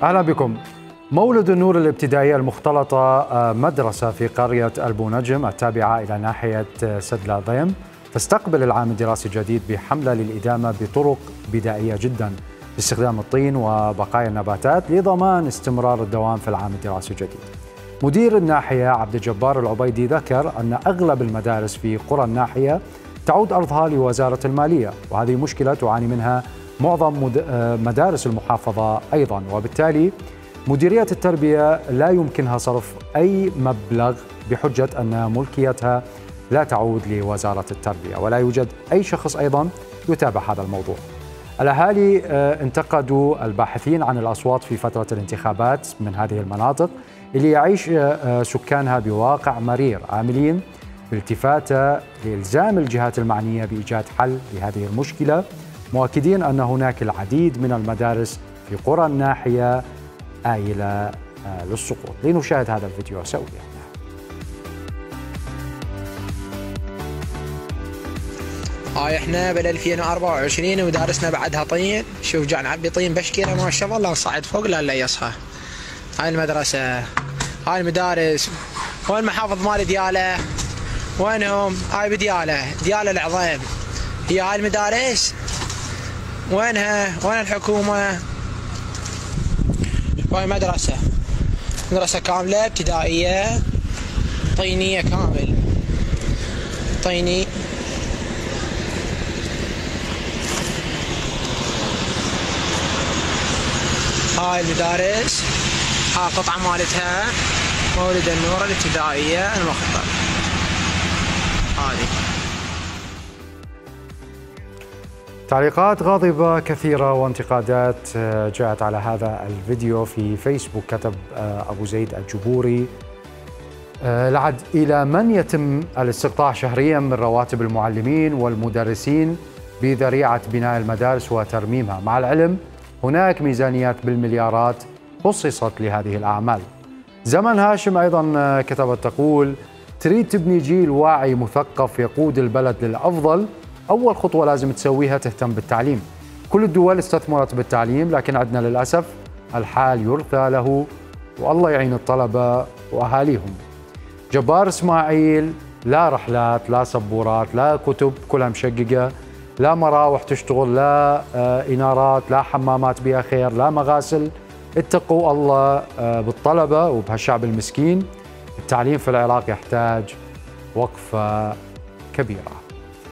أهلا بكم. مولد النور الابتدائية المختلطة مدرسة في قرية ألبو نجم التابعة إلى ناحية سد لاذيم تستقبل العام الدراسي الجديد بحملة للإدامة بطرق بدائية جدا باستخدام الطين وبقايا النباتات لضمان استمرار الدوام في العام الدراسي الجديد. مدير الناحية عبد الجبار العبيدي ذكر أن أغلب المدارس في قرى الناحية تعود أرضها لوزارة المالية، وهذه مشكلة تعاني منها معظم مدارس المحافظة أيضا، وبالتالي مديرية التربية لا يمكنها صرف أي مبلغ بحجة أن ملكيتها لا تعود لوزارة التربية، ولا يوجد أي شخص أيضا يتابع هذا الموضوع. الأهالي انتقدوا الباحثين عن الأصوات في فترة الانتخابات من هذه المناطق اللي يعيش سكانها بواقع مرير، عاملين بالتفاتة لإلزام الجهات المعنية بإيجاد حل لهذه المشكلة، مؤكدين أن هناك العديد من المدارس في قرى الناحية آيلة للسقوط. لنشاهد هذا الفيديو سويا. هاي احنا بال 2024 ومدارسنا بعدها طين. شوف جاي نعبي طين بشكيره ما شاء الله، لا نصعد فوق لا يصحى. هاي المدرسة، هاي المدارس، وين محافظ مال ديالة؟ وينهم؟ هاي بديالة، ديالة العظيم. هي هاي المدارس وينها؟ وين الحكومة؟ هاي مدرسة كاملة ابتدائية طينية كامل، طيني. هاي المدارس، هاي قطعة مالتها مولد النور الابتدائية المختلطة. هذه تعليقات غاضبة كثيرة وانتقادات جاءت على هذا الفيديو في فيسبوك. كتب أبو زيد الجبوري: لعد إلى من يتم الاستقطاع شهريا من رواتب المعلمين والمدرسين بذريعة بناء المدارس وترميمها، مع العلم هناك ميزانيات بالمليارات خصصت لهذه الأعمال. زمن هاشم أيضا كتبت تقول: تريد تبني جيل واعي مثقف يقود البلد للأفضل، أول خطوة لازم تسويها تهتم بالتعليم. كل الدول استثمرت بالتعليم، لكن عندنا للأسف الحال يرثى له، والله يعين الطلبة وأهاليهم. جبار إسماعيل: لا رحلات، لا سبورات، لا كتب كلها مشققة، لا مراوح تشتغل، لا إنارات، لا حمامات بها خير، لا مغاسل. اتقوا الله بالطلبة وبهالشعب المسكين. التعليم في العراق يحتاج وقفة كبيرة.